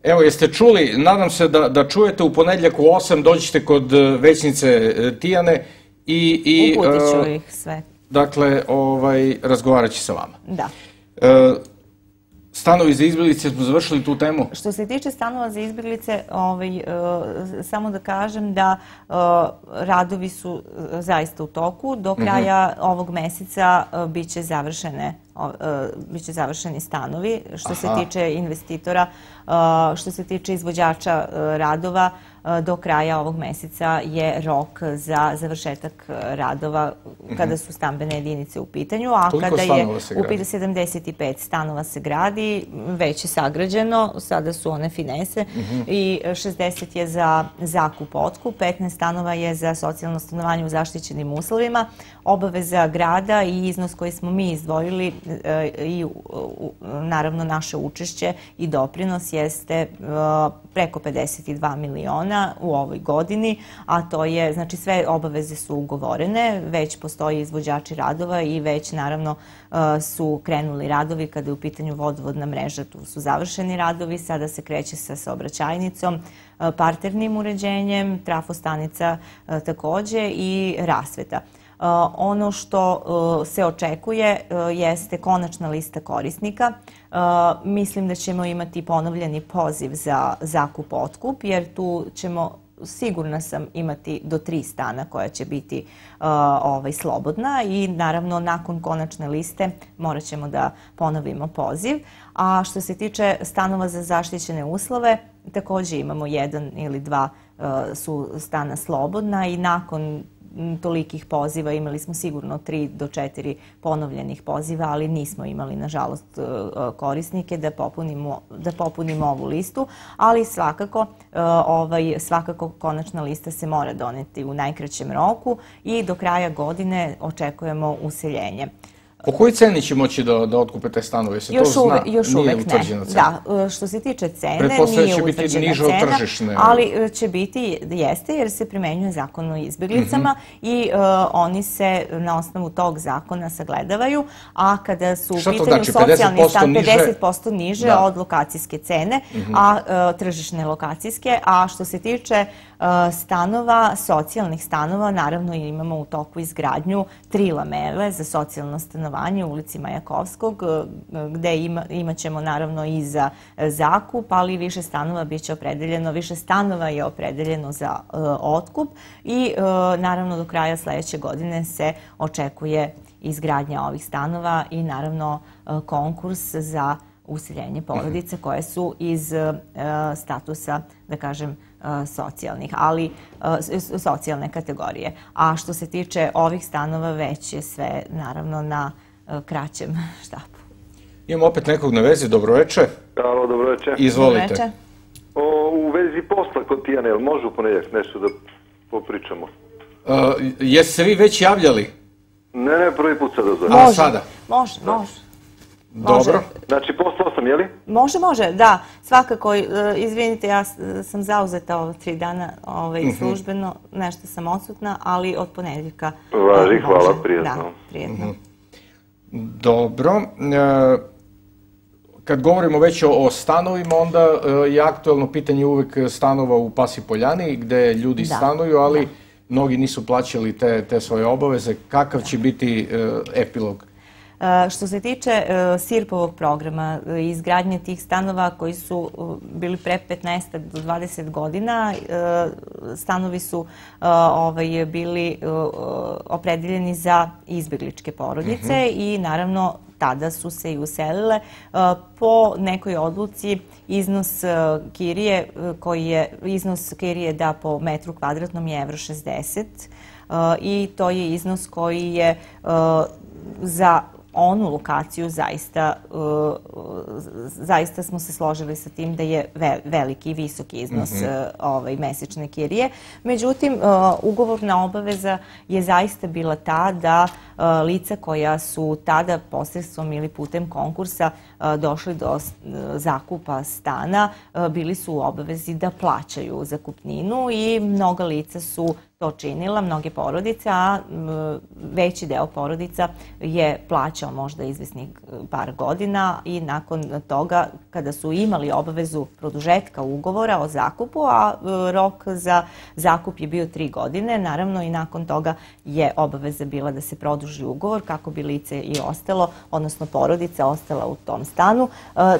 Evo, jeste čuli, nadam se da čujete u ponedeljak u osam, dođite kod većnice Tijane i... Uputit ću ih sve. Dakle, razgovarat će sa vama. Da. Stanovi za izbjeglice, smo završili tu temu? Što se tiče stanova za izbjeglice, samo da kažem da radovi su zaista u toku. Do kraja ovog meseca biće završene biće završeni stanovi. Što se tiče investitora, što se tiče izvođača radova, do kraja ovog meseca je rok za završetak radova kada su stambene jedinice u pitanju, a kada je u pitanju sedamdeset pet stanova se gradi, već je sagrađeno, sada su one finese i šezdeset je za zakup otkup, petnaest stanova je za socijalno stanovanje u zaštićenim uslovima. Obaveza grada i iznos koji smo mi izdvojili i naravno naše učešće i doprinos jeste preko pedeset dva miliona u ovoj godini, a to je, znači sve obaveze su ugovorene, već postoji izvođači radova i već naravno su krenuli radovi kada je u pitanju vodovodna mreža, tu su završeni radovi, sada se kreće sa saobraćajnicom, parternim uređenjem, trafostanica takođe i rasveta. Ono što se očekuje jeste konačna lista korisnika. Mislim da ćemo imati ponovljeni poziv za zakup-otkup, jer tu ćemo, sigurna sam, imati do tri stana koja će biti slobodna i naravno nakon konačne liste morat ćemo da ponovimo poziv. A što se tiče stanova za zaštićene uslove, takođe imamo jedan ili dva su stana slobodna i nakon tolikih poziva imali smo sigurno tri do četiri ponovljenih poziva, ali nismo imali, nažalost, korisnike da popunimo, da popunimo ovu listu, ali svakako, ovaj, svakako konačna lista se mora doneti u najkraćem roku i do kraja godine očekujemo useljenje. Po kojoj ceni će moći da, da otkupe te stanove? Se još to zna? Uvek, još nije uvek utvrđena ne. cena? Da, što se tiče cene, Pretpostavljam nije će biti utvrđena niže od cena, tržišne. ali će biti, jeste, jer se primenjuje zakon o izbjeglicama i uh, oni se na osnovu tog zakona sagledavaju, a kada su u pitanju znači, socijalni stan niže? pedeset posto niže Da. od lokacijske cene, a uh, tržišne lokacijske, a što se tiče uh, stanova, socijalnih stanova, naravno imamo u toku izgradnju tri lamele za socijalno stanovanje u ulici Majakovskog, gde ima, imat ćemo naravno i za zakup, ali više stanova bit će opredeljeno, više stanova je opredeljeno za uh, otkup i uh, naravno do kraja sledeće godine se očekuje izgradnja ovih stanova i naravno uh, konkurs za useljenje porodice koje su iz uh, statusa, da kažem, uh, socijalnih, ali uh, socijalne kategorije. A što se tiče ovih stanova, već je sve naravno na kraćem štapu. Imamo opet nekog na vezi, dobroveče. Alo, dobroveče. Izvolite. Dobroveče. O, u vezi posla kod Tijane, jel može u ponedjeljak nešto da popričamo? Uh, jeste se vi već javljali? Ne, ne, prvi put sad ozove. A Može, sada? može, može. Dobro. Znači, poslao sam, jeli? Može, može, da. Svakako, izvinite, ja sam zauzeta ova tri dana ovaj, službeno, nešto sam odsutna, ali od ponedjeljka Važi, može. hvala, prijetno. Da, prijetno. Dobro. E, kad govorimo već o, o stanovima, onda e, je aktuelno pitanje uvek stanova u Pasi Poljani, gde ljudi Da. stanuju, ali mnogi nisu plaćali te, te svoje obaveze. Kakav će biti e, epilog? E, Što se tiče e, SIRP-ovog programa i izgradnje tih stanova koji su e, bili pre petnaest do dvadeset godina, e, stanovi su e, ovaj, bili e, opredeljeni za izbjegličke porodice i naravno tada su se i uselile. Po nekoj odluci iznos kirije koji je, iznos kirije da po metru kvadratnom je evro šezdeset i to je iznos koji je za onu lokaciju zaista, zaista smo se složili sa tim da je veliki i visoki iznos ovaj, mesečne kirije. Međutim, ugovorna obaveza je zaista bila ta da lica koja su tada posredstvom ili putem konkursa došli do zakupa stana bili su u obavezi da plaćaju zakupninu i mnoga lica su to činila, mnoge porodice, a veći deo porodica je plaćao možda izvesnih par godina i nakon toga, kada su imali obavezu produžetka ugovora o zakupu, a rok za zakup je bio tri godine, naravno i nakon toga je obaveza bila da se produži ugovor kako bi lice i ostalo, odnosno porodica ostala u tom stanu.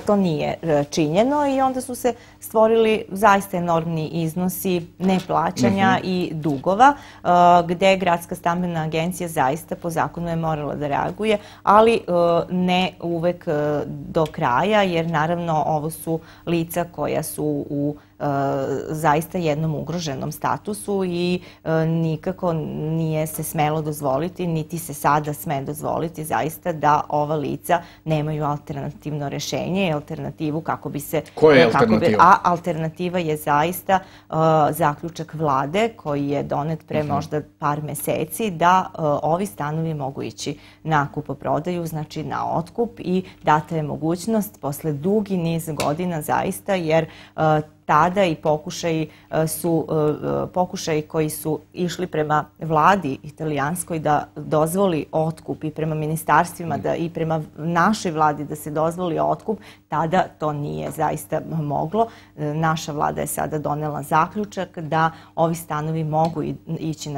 To nije činjeno i onda su se stvorili zaista enormni iznosi neplaćanja i dugova, gde Gradska stambena agencija zaista po zakonu je morala da reaguje, ali ne uvek do kraja, jer naravno ovo su lica koja su u zaista jednom ugroženom statusu i nikako nije se smelo dozvoliti, niti se sada sme dozvoliti zaista da ova lica nemaju alternativno rešenje, alternativu kako bi se... Koja je alternativa? A alternativa je zaista zaključak vlade koji je donet pre možda par meseci da ovi stanovi mogu ići na kupoprodaju, znači na otkup, i data je mogućnost posle dugi niz godina zaista, jer tada i pokušaji su pokušaji koji su išli prema vladi italijanskoj da dozvoli otkup i prema ministarstvima da i prema našoj vladi da se dozvoli otkup, tada to nije zaista moglo. Naša vlada je sada donela zaključak da ovi stanovi mogu ići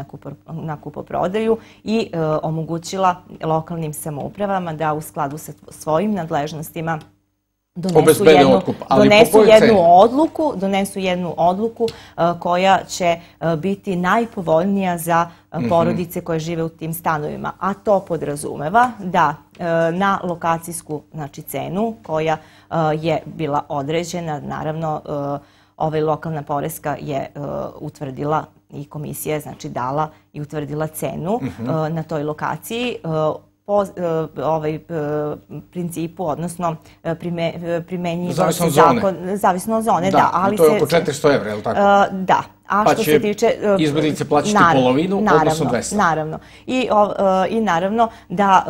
na kupoprodaju i omogućila lokalnim samoupravama da u skladu sa svojim nadležnostima donesu jednu, donesu jednu odluku, donesu jednu odluku koja će biti najpovoljnija za porodice koje žive u tim stanovima. A to podrazumeva da na lokacijsku, znači, cenu koja je bila određena, naravno ovaj lokalna poreska je utvrdila i komisija je, znači, dala i utvrdila cenu na toj lokaciji po ovaj principu, odnosno primenjiva se zakon, zavisno od zone, da, ali to je oko četiristo evra, je li tako? Da. Pa će izbjeglice plaćati polovinu, odnosno dvesta. Naravno. I naravno da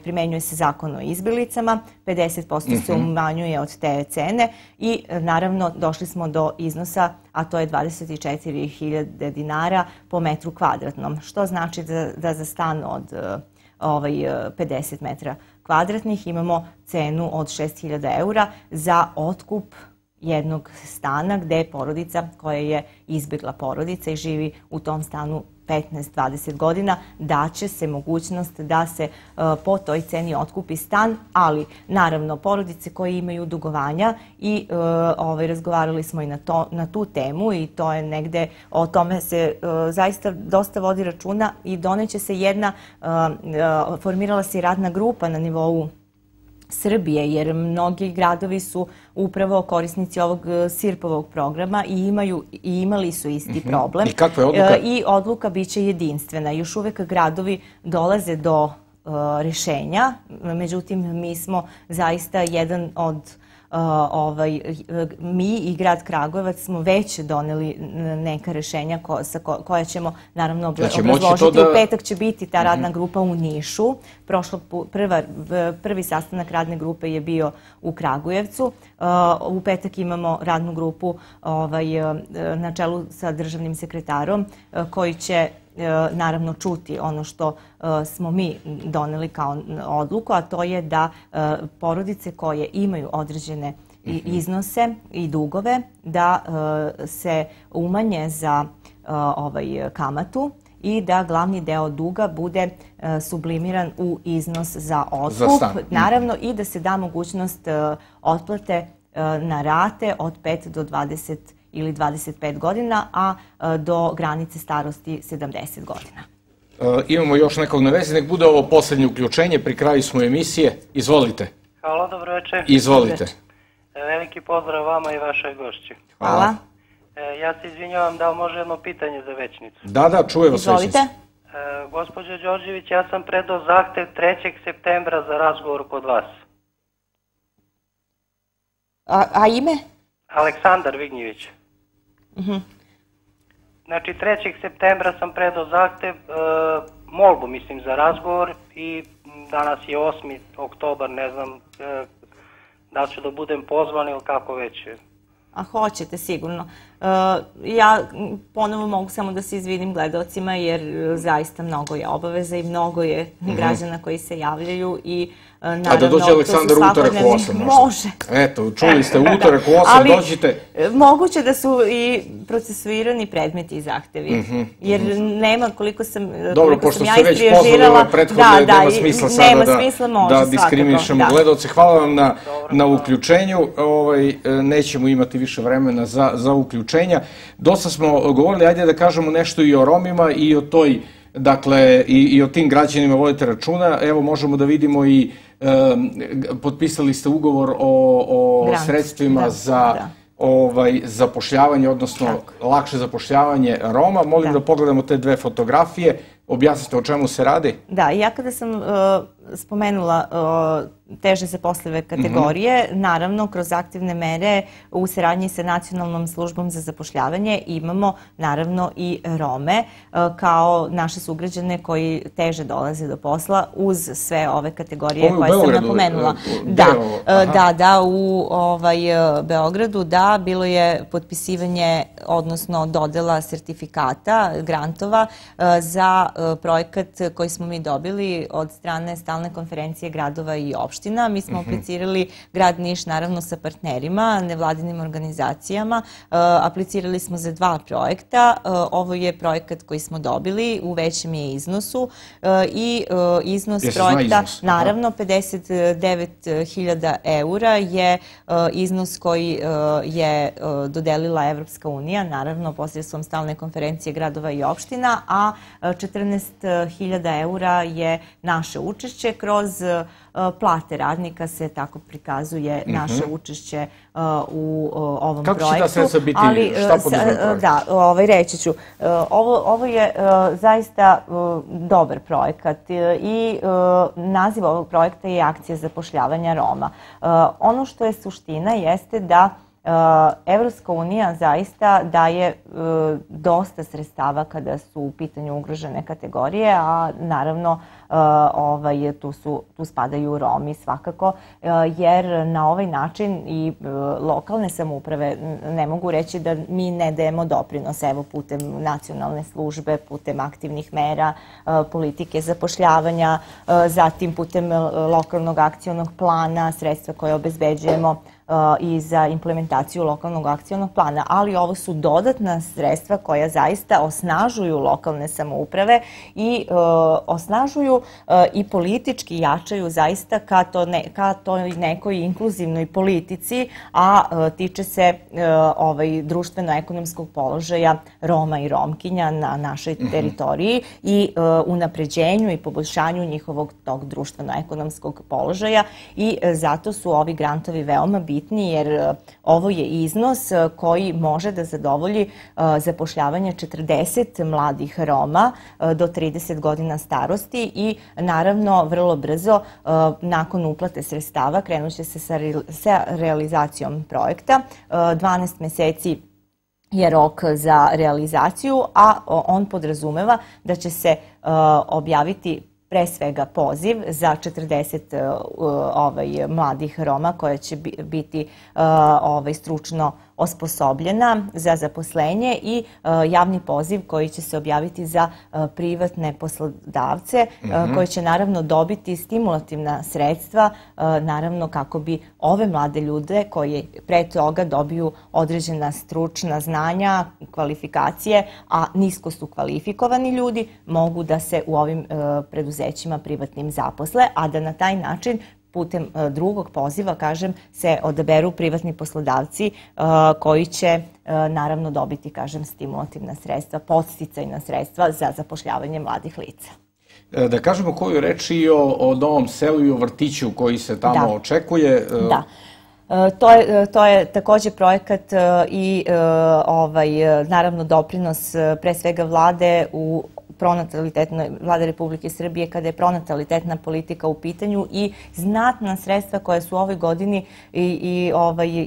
primenjuje se zakon o izbjeglicama, pedeset posto se umanjuje od te cene i naravno došli smo do iznosa, a to je dvadeset četiri hiljade dinara po metru kvadratnom, što znači da za stan od pedeset metra kvadratnih imamo cenu od šest hiljada eura za otkup jednog stana gde je porodica koja je izbjegla porodica i živi u tom stanu petnaest do dvadeset godina, daće se mogućnost da se po toj ceni otkupi stan, ali naravno porodice koje imaju dugovanja i razgovarali smo i na tu temu i to je negde, o tome se zaista dosta vodi računa i doneće se jedna, formirala se i radna grupa na nivou Srbije, jer mnogi gradovi su upravo korisnici ovog SIRP-ovog programa i imaju i imali su isti problem. I kakva je odluka? I odluka biće jedinstvena. Još uvek gradovi dolaze do rešenja, međutim mi smo zaista jedan od mi i grad Kragujevac smo već doneli neka rešenja koja ćemo naravno obrazložiti. U petak će biti ta radna grupa u Nišu. Prvi sastanak radne grupe je bio u Kragujevcu. U petak imamo radnu grupu na čelu sa državnim sekretarom koji će naravno čuti ono što smo mi doneli kao odluku, a to je da porodice koje imaju određene iznose i dugove da se umanje za kamatu i da glavni deo duga bude sublimiran u iznos za otkup, naravno, i da se da mogućnost otplate na rate od pet do dvadeset ili dvadeset pet godina, a do granice starosti sedamdeset godina. Imamo još nekog na vezi, nek bude ovo posljednje uključenje, pri kraju smo emisije. Izvolite. Halo, dobro večer. Izvolite. Veliki pozdrav vama i vašoj gošći. Hvala. Ja se izvinjavam, da li može jedno pitanje za Večnicu? Da, da, čuje vas Večnica. Izvolite. Gospođo Đorđević, ja sam predao zahtev trećeg septembra za razgovor kod vas. A ime? Aleksandar Vignjević. Znači, trećeg septembra sam predao zahtev, molbu, mislim, za razgovor i danas je osmi oktobar, ne znam da ću da budem pozvan ili kako već. A hoćete sigurno. Ja ponovo mogu samo da se izvinim gledalcima jer zaista mnogo je obaveza i mnogo je građana koji se javljaju i naravno... A da dođe Aleksandar utorak u osam možda? Može. Eto, čuli ste, utorak u osam dođite. Moguće da su i procesuirani predmeti i zahtevi. Jer nema, koliko sam ja istriježirala... Dobro, pošto ste već pozvali ove prethodne, nema smisla sada da diskriminišemo gledalce. Hvala vam na uključenju. Nećemo imati više vremena za uključenja. Dosta smo govorili, ajde da kažemo nešto i o Romima i o toj, dakle, i o tim građanima vodite računa. Evo, možemo da vidimo i potpisali ste ugovor o sredstvima za zapošljavanje, odnosno lakše zapošljavanje Roma. Molim da pogledamo te dve fotografije. Objasnite o čemu se radi? Da, ja kada sam spomenula teže zaposlive kategorije, naravno kroz aktivne mere u saradnji sa Nacionalnom službom za zapošljavanje imamo naravno i Rome kao naše sugrađane koji teže dolaze do posla uz sve ove kategorije koje sam napomenula. Da, da, da, u Beogradu, da, bilo je potpisivanje, odnosno dodela sertifikata, grantova za projekat koji smo mi dobili od strane Stalne konferencije gradova i opština. Mi smo aplicirali grad Niš naravno sa partnerima, nevladinim organizacijama. Aplicirali smo za dva projekta. Ovo je projekat koji smo dobili, u većem je iznosu i iznos projekta, naravno pedeset devet hiljada eura je iznos koji je dodelila Evropska unija, naravno posredstvom Stalne konferencije gradova i opština, a četrnaest hiljada eura je naše učešće. Kroz plate radnika se tako prikazuje naše učešće u ovom projektu. Kako će ta sredstva biti? Šta poduzme projekt? Da, reći ću. Ovo je zaista dobar projekat i naziv ovog projekta je Akcija zapošljavanja Roma. Ono što je suština jeste da Evropska unija zaista daje dosta sredstava kada su u pitanju ugrožene kategorije, a naravno tu spadaju Romi svakako, jer na ovaj način i lokalne samouprave, ne mogu reći da mi ne dajemo doprinos, evo putem nacionalne službe, putem aktivnih mera, politike zapošljavanja, zatim putem lokalnog akcionog plana, sredstva koje obezbeđujemo i za implementaciju lokalnog akcionog plana, ali ovo su dodatna sredstva koja zaista osnažuju lokalne samouprave i osnažuju i politički jačaju zaista ka toj nekoj inkluzivnoj politici, a tiče se društveno-ekonomskog položaja Roma i Romkinja na našoj teritoriji i unapređenju i poboljšanju njihovog tog društveno-ekonomskog položaja i zato su ovi grantovi veoma bitni, jer ovo je iznos koji može da zadovolji zapošljavanje četrdeset mladih Roma do trideset godina starosti i naravno vrlo brzo nakon uplate sredstava krenut će se sa realizacijom projekta. dvanaest meseci je rok za realizaciju, a on podrazumeva da će se objaviti pre svega poziv za četrdeset mladih Roma koja će biti stručno osposobljena za zaposlenje i javni poziv koji će se objaviti za privatne poslodavce koji će naravno dobiti stimulativna sredstva naravno kako bi ove mlade ljude koji pre toga dobiju određena stručna znanja, kvalifikacije, a nisko su kvalifikovani ljudi, mogu da se u ovim preduzećima privatnim zaposle, a da na taj način putem drugog poziva, kažem, se odaberu privatni poslodavci koji će naravno dobiti, kažem, stimulativna sredstva, podsticajna sredstva za zapošljavanje mladih lica. Da kažemo koju reč i o Novom selu i o vrtiću koji se tamo očekuje. Da. To je također projekat i naravno doprinos pre svega vlade u pronatalitetnoj, vlade Republike Srbije kada je pronatalitetna politika u pitanju i znatna sredstva koja su u ovoj godini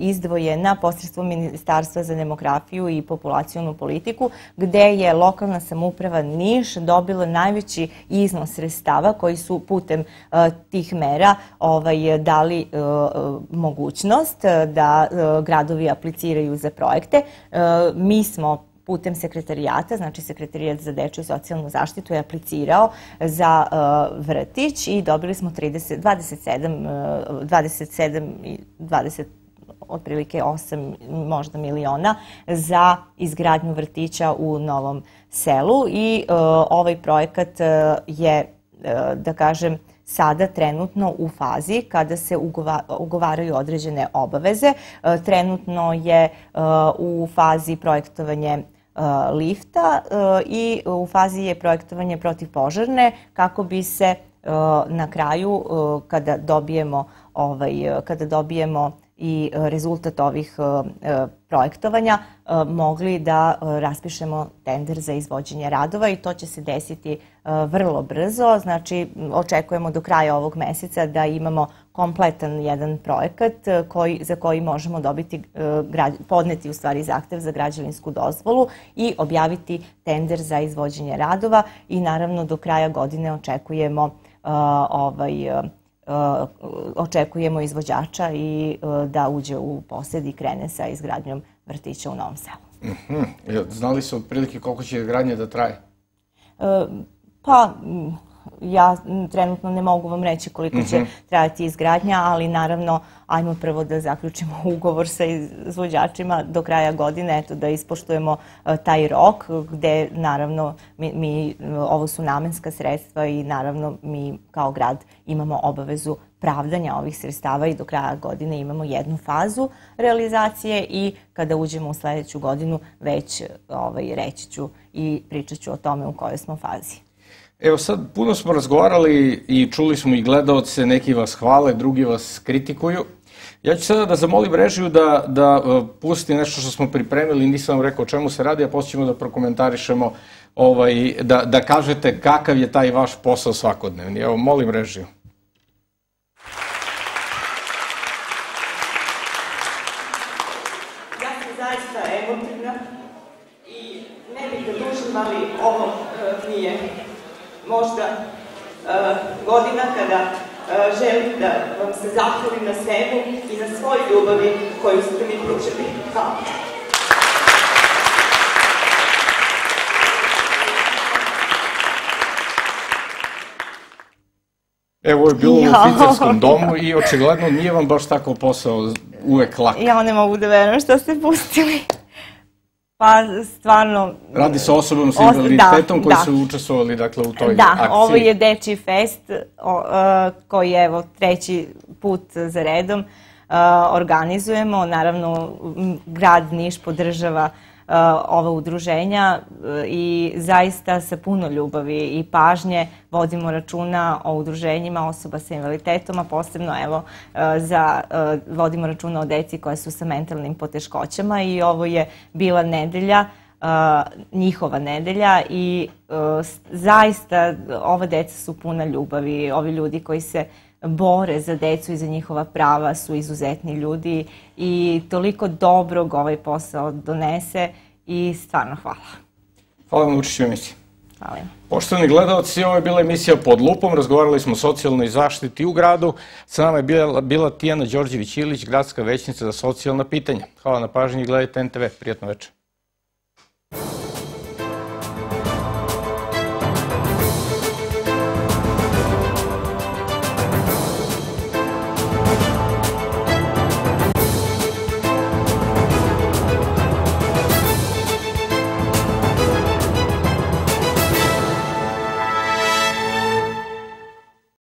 izdvojena posredstvom Ministarstva za demografiju i populacionu politiku, gde je lokalna samouprava Niš dobila najveći iznos sredstava koji su putem tih mera dali mogućnost da gradovi apliciraju za projekte. Mi smo putem sekretarijata, znači Sekretarijat za dečju i socijalnu zaštitu je aplicirao za vrtić i dobili smo dvadeset sedam i dvadeset otprilike osam možda miliona za izgradnju vrtića u Novom selu i ovaj projekat je, da kažem, sada trenutno u fazi kada se ugovaraju određene obaveze. Trenutno je u fazi projektovanje lifta i u fazi je projektovanje protivpožarne kako bi se na kraju, kada dobijemo kada dobijemo i rezultat ovih projektovanja mogli da raspišemo tender za izvođenje radova i to će se desiti vrlo brzo. Znači, očekujemo do kraja ovog meseca da imamo kompletan jedan projekat za koji možemo dobiti, podneti u stvari zahtev za građevinsku dozvolu i objaviti tender za izvođenje radova i naravno do kraja godine očekujemo ovaj očekujemo izvođača i da uđe u posjed i krene sa izgradnjom vrtića u Novom Selu. Znali su otprilike koliko će izgradnja da traje? Pa, ja trenutno ne mogu vam reći koliko će trajati izgradnja, ali naravno, ajmo prvo da zaključimo ugovor sa izvođačima do kraja godine, eto da ispoštujemo taj rok, gde naravno ovo su namenska sredstva i naravno mi kao grad imamo obavezu pravdanja ovih sredstava i do kraja godine imamo jednu fazu realizacije i kada uđemo u sledeću godinu već reći ću i pričat ću o tome u kojoj smo fazi. Evo sad, puno smo razgovarali i čuli smo i gledaoce, neki vas hvale, drugi vas kritikuju. Ja ću sada da zamolim režiju da pusti nešto što smo pripremili, nisam vam rekao o čemu se radi, a poslije ćemo da prokomentarišemo, da kažete kakav je taj vaš posao svakodnevni. Evo, molim režiju. Ja sam zaista emotivna i ne bih da dužim, ali ovo nije možda godina kada želim da vam se zahvalim na svemu i na svoj ljubavi koju ste mi pružili. Hvala. Evo, ovo je bilo u oficerskom domu i očigledno nije vam baš tako posao uvek lak. Ja ne mogu da verujem što ste pustili. Pa, stvarno... Radi se o osobom sa invaliditetom koji su učestvovali, dakle, u toj akciji. Da, ovo je Dečiji fest koji, evo, treći put za redom organizujemo. Naravno, grad Niš podržava ova udruženja i zaista sa puno ljubavi i pažnje vodimo računa o udruženjima osoba sa invaliditetom, a posebno evo vodimo računa o deci koja su sa mentalnim poteškoćama i ovo je bila nedelja, njihova nedelja i zaista ova deca su puna ljubavi. Ovi ljudi koji se bore za decu i za njihova prava su izuzetni ljudi i toliko dobrog ovaj posao donese i stvarno hvala. Hvala vam na učešću u emisiji. Hvala. Poštovani gledalci, ovo je bila emisija Pod lupom, razgovarali smo o socijalnoj zaštiti u gradu. Sa nama je bila Tijana Đorđević-Ilić, gradska većnica za socijalna pitanja. Hvala na pažnji i gledajte en te ve. Prijatno večer.